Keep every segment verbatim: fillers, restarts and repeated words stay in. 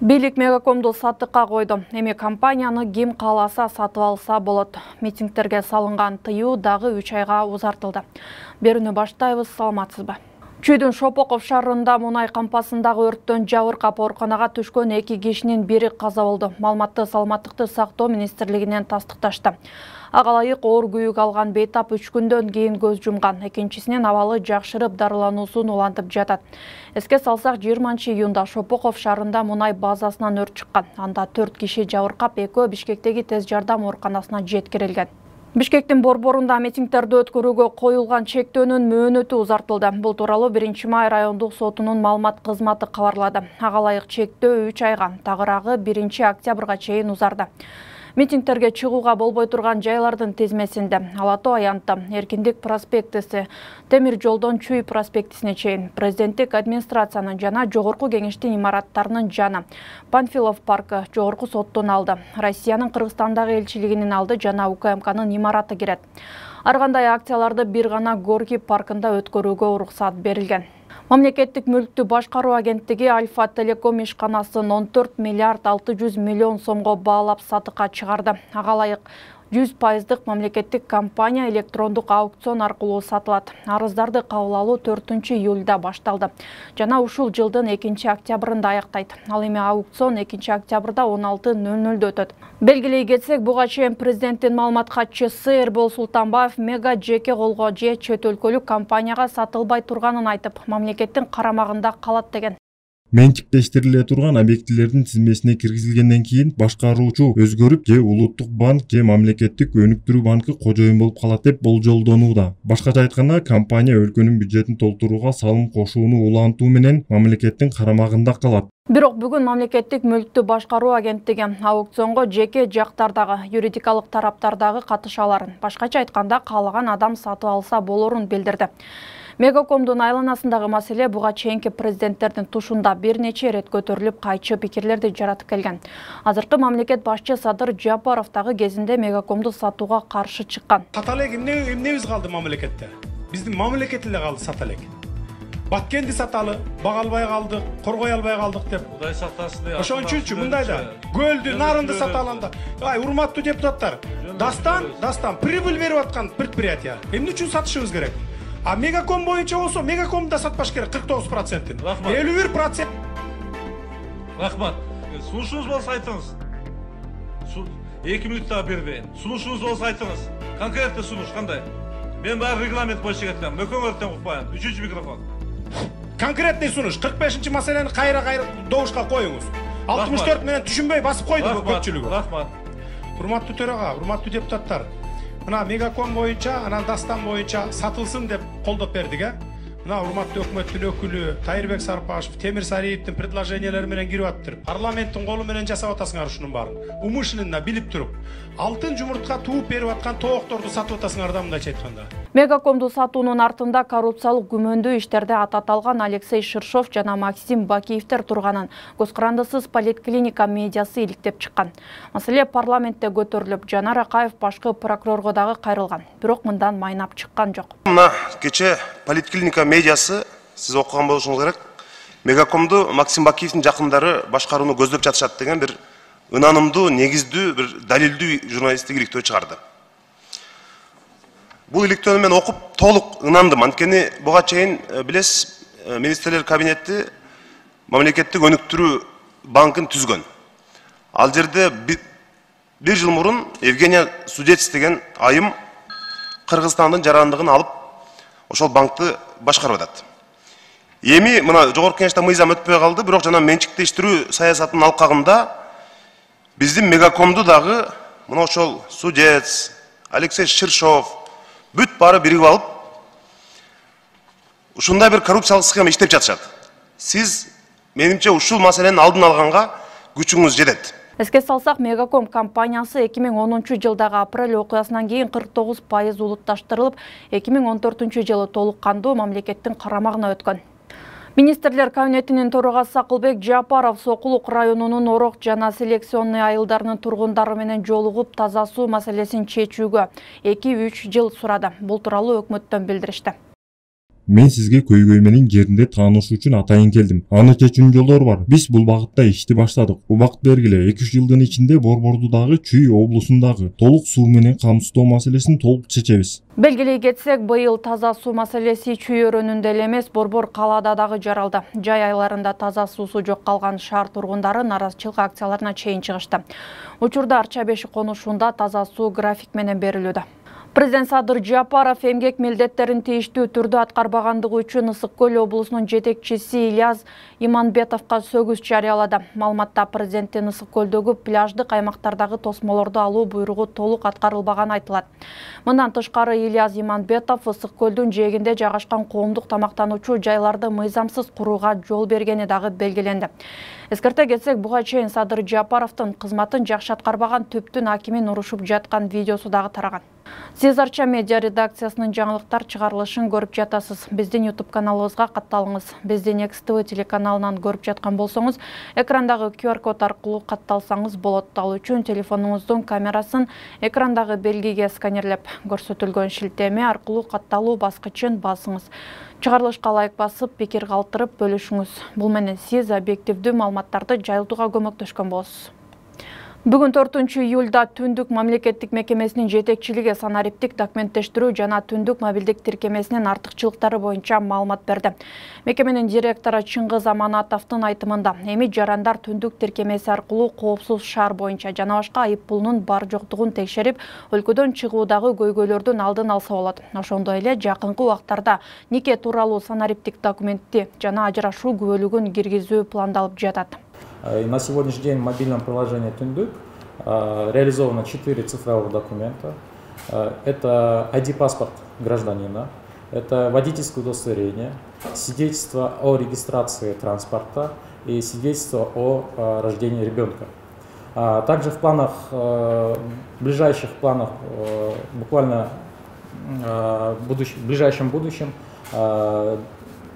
Бийлик Мегакомду сатыкка койду. Эми компанияны ким кааласа сатып алса болот. Митингтерге салынган тыюу дагы үч айга узартылды. Берүүнү баштайбыз, саламатсызбы? Чүйдүн Шопоков шаарында мунай кампасындагы өрттөн жабыркап ооруканага түшкөн эки кишинин бири каза болду. Маалыматты Саламаттыкты сактоо министрлигинен тастыкташты. Ага ылайык оор күйүк алган бейтап үч күндөн кийин көз жумган. Экинчисинин абалы жакшырып, дарылануусун улантып жатат. Эске салсак, жыйырманчы июнда Шопоков шаарында мунай базасынан өрт чыккан. Анда төрт киши жабыркап, экөө Бишкектеги тез жардам ооруканасына жеткирилген. Бишкектин борборунда митингтерди өткөрүүгө коюлган чектөөнүн мөөнөтү узартылды. Бул тууралуу биринчи май райондук сотунун маалымат кызматы кабарлады. Ага ылайык чектөө үч айга, тагыраагы биринчи октябрга чейин узарды. Митингтерге чыгууга болбой турган жайлардын тизмесинде Ала Тоо аянты, Эркиндик проспектиси, Темир жолдон Чүй проспектисине чейин, президенттик администрациянын жана жогорку кеңештин имараттарынын жаны, Панфилов паркы, жогорку соттун алды, Россиянын Кыргызстандагы элчилигинин алды жана У К М К'нын имараты кирет. Ар кандай акцияларды бир гана Горький паркында өткөрүүгө уруксат берилген. Мамлекеттик мүлктү башкаруу агенттиги Альфа Телеком ишканасын он төрт миллиард алты жүз миллион сомго баалап сатыкка чыгарды. Ага ылайык жүз пайыздык мамлекеттик компания электрондук аукцион аркылуу сатылат. Арыздарды кабыл алуу төртүнчү июлда башталды жана ушул жылдын экинчи октябрында аяктайт. Ал эми аукцион экинчи октябрда он алты нөл нөлдө өтөт. Белгилей кетсек, буга чейин президенттин маалымат катчысы Эрбол Султанбаев мега жеке колго же чет өлкөлүк компанияга сатылбай турганын айтып, мамлекеттин карамагында калат деген. Менчиктештириле турган объектилердин тизмесине киргизилгенден кийин башкаруучу өзгөрүп, же улуттук банк, же мамлекеттик өнүктүрүү банкы кожоюн болуп калат деп болжолдонууда. Башкача айтканда, компания өлкөнүн бюджетин толтурууга салым кошууну улантуу менен мамлекеттин карамагында калат. Бирок бүгүн мамлекеттик мүлктү башкаруу агенттиги аукционго жеке жактардагы, юридикалык тараптардагы катыша аларын, башкача айтканда каалаган адам сатып алса болорун билдирди. Мегакомдун айланасындагы маселе буга чейинки президенттердин тушунда бир нече ирет көтөрүлүп, кайчы пикирлерди жаратып келген. Азыркы мамлекет башчы Садыр Жапаров дагы кезинде Мегакомду сатууга каршы чыккан. Сата элек эмне эмнебиз калды мамлекетте? Биздин мамлекет эле калды сата элек. Баткенди саталы, бага албай калдык, коргой албай калдык деп. Кудай сактасын деп. Ошон үчүнчү мындай да көлдү, нарынды сата алганда, ай урматтуу депутаттар, дастан, дастан прибыль берип аткан предприятие. Эмне үчүн сатышыбыз керек? А Мегаком боюнча болсо, Мегаком да сатпаш керек кырк тогуз процентин. элүү бир процент. Рахмат. Сунушуңуз болсо айтыңыз. эки мүнөт да бербейин. Сунушуңуз болсо айтыңыз. Конкреттүү сунуш кандай? Мен баары регламент боюнча кетем. Мөкөңөрдөн укпайм. Үчүнчү микрофон. Конкретный сунуш. кырк бешинчи маселени кайра-кайра добушка коюңуз. алтымыш төрт менен түшүнбөй басып койду көпчүлүгү. Рахмат. Урматтуу төрага, урматтуу депутаттар. Мына Мегаком боюнча, анан Дастан боюнча сатылсын деп колдоп бердик, э? Мына урматтуу өкмөттүн өкүлү Тайырбек Сарпашев, Темир Сариевдин предложениялары менен кирип атыптыр. Парламенттин колу менен жасап атасыңар ушунун баарын. Умышленно билип туруп, алтын жумуртка тууп берип аткан тоокторду сатып атасыңар да мындайча айтканда. Мегакомду сатуунун артында коррупциялык күмөндүү иштерде ат аталган Алексей Ширшов жана Максим Бакиевтер турганын көз карандысыз поликлиника медиасы иликтеп чыккан. Маселе парламентте көтөрүлүп, Жанар Акаев башкы прокурорго дагы кайрылган. Бирок мындан майнап чыккан жок. Мына кече поликлиника медиасы сиз окуган болушуңуз керек. Мегакомду Максим Бакиевдин жакындары башкарууну көздөп жатышат деген бир ынанымдуу, негиздүү, бир далилдүү журналисттик иликтөө чыгарды. Бул иликтөөнү мен окуп толук ынандым. Анткени буга чейин билесиз, министрлер кабинети мамлекеттик өнүктүрүү банкын түзгөн. Ал жерде бир жыл мурун Евгения Судец деген айым Кыргызстандын жарандыгын алып, ошол банкты башкарып атат. Эми мына жогорку кеңеште мыйзам өтпөй калды, бирок жана менчиктештирүү саясатынын алкагында биздин Мегакомду дагы мына ошол Судец, Алексей Ширшов бүт баары биригип алып, ушундай бир коррупциялык схема иштеп жатышат. Сиз, менимче, ушул маселенин алдын алганга күчүңүз жетет. Эске салсак, Мегаком компаниясы эки миң онунчу жылдагы апрель окуясынан кийин кырк тогуз пайыз улутташтырылып, эки миң он төртүнчү жылы толук кандуу мамлекеттин карамагына өткөн. Министрлер кабинетинин төрагасы Акылбек Жапаров Сокулук районунун Орок жана Селекционный айылдарынын тургундары менен жолугуп таза суу маселесин чечүүгө эки үч жыл сурады. Бул тууралуу өкмөттөн билдиришти. Мен сизге көйгөй менен жеринде таанышуу үчүн атайын келдим. Аны чечүүнүн жолдору бар. Биз бул багытта ишти баштадык. Убакыт бергиле эки үч жылдын ичинде Борбордудагы Чүй облусундагы толук суу менен камсыздоо маселесин толук чечебиз. Белгилей кетсек, быйыл таза суу маселеси Чүй өрөөнүндө эле эмес, Борбор калаада дагы жаралды. Жай айларында таза суусу жок калган шаар тургундары наразычылык акцияларына чейин чыгышты. Учурда Арча беши конушунда таза суу график менен берилүүдө. Президент Садыр Жапаров эмгек милдеттерин тийиштүү түрдө аткарбагандыгы үчүн Ысык Көл облусунун жетекчиси Ильяс Иманбетовго сөгүз жарыялады. Маалыматта президенттин Ысык Көлдөгү пляждык аймактардагы тосмолорду алуу буйругу толук аткарылбаганы айтылат. Мындан тышкары Ильяс Иманбетов Ысык Көлдүн жээгинде жайгашкан коомдук тамактануучу жайларды мыйзамсыз курууга жол бергени дагы белгиленди. Эскерте кетсек, буга чейин Садыр Жапаровдун кызматын жакшы аткарбаган түптүн акимин урушуп жаткан видеосу дагы тараган. Сиз Арча медиа редакциясынын жаңылыктар чыгарылышын көрүп жатасыз. Биздин YouTube каналыбызга катталыңыз. Биздин Экс Тэ Вэ телеканалынан көрүп жаткан болсоңуз, экрандагы Q R код аркылуу катталсаңыз болот. Ал үчүн телефонуңуздун камерасын экрандагы белгиге сканерлеп, көрсөтүлгөн шилтеме аркылуу катталуу баскычын басыңыз. Чыгарылышка лайк басып, пикир калтырып бөлүшүңүз. Бул менен сиз объективдүү маалыматтарды жайылтууга көмөктөшкөн болосуз. Бүгүн төртүнчү июлда Түндүк мамлекеттик мекемесинин жетекчилиги санариптик документтештирүү жана Түндүк мобилдик тиркемесинин артыкчылыктары боюнча маалымат берди. Мекеменин директору Чыңгыз Аманатовдун айтымында, эми жарандар Түндүк тиркемеси аркылуу коопсуз шаар боюнча жана башка айып пулунун бар жоктугун текшерип, өлкөдөн чыгуудагы көйгөйлөрдүн алдын алса болот. Ошондой эле жакынкы убактарда нике тууралуу санариптик документти жана ажырашуу күбөлүгүн киргизүү пландалып жатат. На сегодняшний день в мобильном приложении Түндүк реализовано четыре цифровых документа. Это ай ди-паспорт гражданина, это водительское удостоверение, свидетельство о регистрации транспорта и свидетельство о рождении ребенка. Также в планах, в ближайших планах, буквально в ближайшем будущем,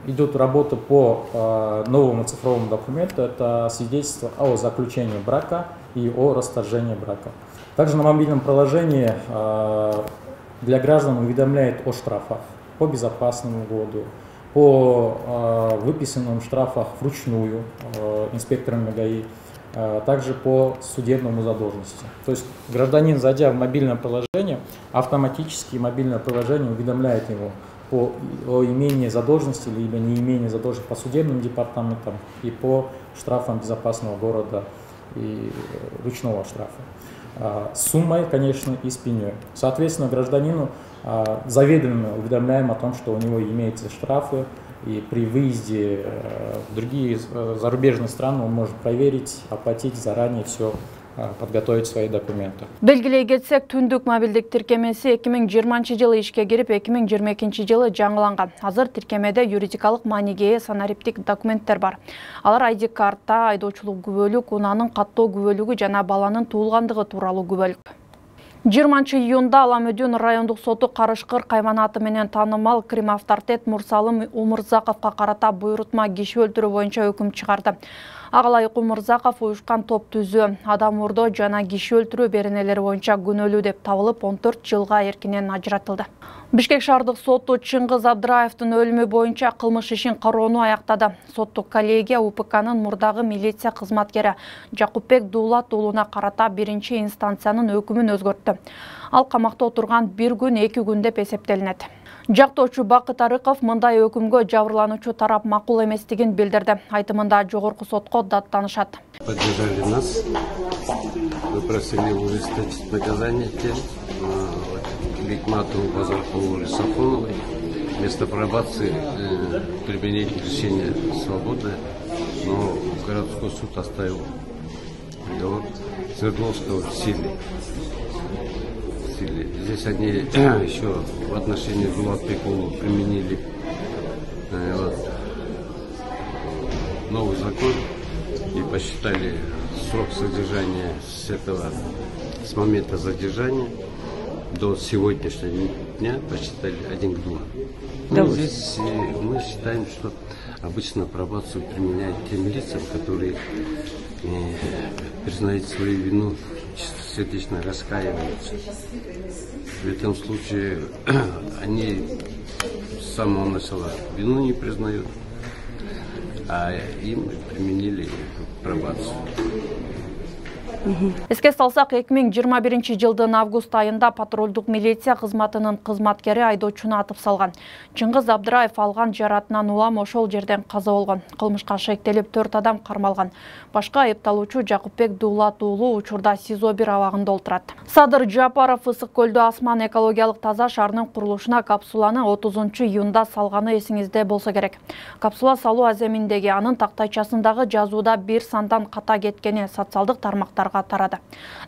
идет работа по э, новому цифровому документу, это свидетельство о заключении брака и о расторжении брака. Также на мобильном приложении э, для граждан уведомляет о штрафах по безопасному году, по э, выписанным штрафах вручную э, инспекторами ГАИ, э, также по судебному задолженности. То есть гражданин, зайдя в мобильное приложение, автоматически мобильное приложение уведомляет его по о имении задолженности либо не имении задолженности по судебным департаментам и по штрафам безопасного города и ручного штрафа. С суммой, конечно, и с пеней. Соответственно, гражданину заведомо уведомляем о том, что у него имеются штрафы, и при выезде в другие зарубежные страны он может проверить, оплатить заранее все, подготовить свои документы. Белгилей кетсек, Түндүк мобилдик тиркемеси эки миң жыйырманчы жылы ишке кирип, эки миң жыйырма экинчи жылы жаңыланган. Азыр тиркемеде юридикалык мааниге ээ санариптик документтер бар. Алар ай ди карта, айдоочулук күбөлүк, унаанын каттоо күбөлүгү жана баланын туулгандыгы тууралуу күбөлүк. жыйырманчы июнда Аламөдүн райондук соту Карышкыр кайманаты менен таанымал крим авторитет Мурсалым Умурзаковго карата буйрутма киши өлтүрүү боюнча өкүм чыгарды. Ага ылайык Умурзаков уюшкан топ түзүү, адам урдоо жана киши өлтүрүү беренелери боюнча күнөөлүү деп табылып, он төрт жылга эркинен ажыратылды. Бишкек шаардык соту Чыңгыз Абдыраевдин өлүмү боюнча кылмыш ишин кароону аяктады. Соттук коллегия У П К'нын мурдагы милиция кызматкери Жакупбек Дуулат уулуна карата биринчи инстанциянын өкүмүн өзгөрттү. Ал камакта отурган бир күн эки күн деп эсептелинет. Жактоочу Бакыт Арыков мындай өкүмгө жабырлануучу тарап макул эместигин билдирди. Айтымында жогорку сотко даттанышат. Поддержали нас, мы просили ужесточить наказание тем, Бекматову, Базаркову, Сафоновой. Вместо пробации э, применить лишение свободы, но городской суд оставил приговор Свердловского в силе. в силе. Здесь они еще в отношении Дулатбекова применили э, вот, новый закон и посчитали срок содержания с этого, с момента задержания до сегодняшнего дня посчитали один к двум. Да. Ну, здесь мы считаем, что обычно пробацию применяют тем лицам, которые э, признают свою вину, сердечно раскаиваются. В этом случае они с самого начала вину не признают, а им применили пробацию. Эске салсак, эки миң жыйырма биринчи жылдын август айында патрулдук милиция кызматынын кызматкери айдоочуну атып салган. Чыңгыз Абдыраев алган жаратынан улам ошол жерден каза болгон. Кылмышка шектелип төрт адам кармалган. Башка айыпталуучу Жакупбек Дуулат уулу учурда СИЗО бир абагында отурат. Садыр Жапаров Ысык көлдө Асман экологиялык таза шаарынын курулушуна капсуланы отузунчу июнда салганы эсиңизде болсо керек. Капсула салуу аземиндеги анын тактайчасындагы жазууда бир сандан ката кеткени социалдык тармактарга тарады.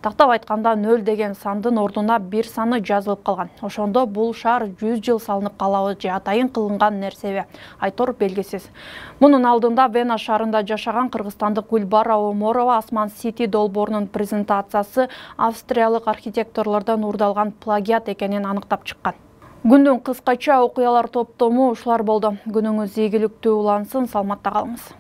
Тактап айтканда нөл деген сандын ордуна бир саны жазылып калган. Ошондо бул шаар жүз жыл салынып калабы же атайын кылынган нерсеби айтор белгисиз. Мунун алдында Вена шаарында жашаган кыргызстандык Гүлбара Оморова Асман Сити долбоорунун презентациясы австриялык архитекторлордон уурдалган плагиат экенин аныктап чыккан. Күндүн кыскача окуялар топтому ушулар болду. Күнүңүз ийгиликтүү улансын, саламатта калыңыз.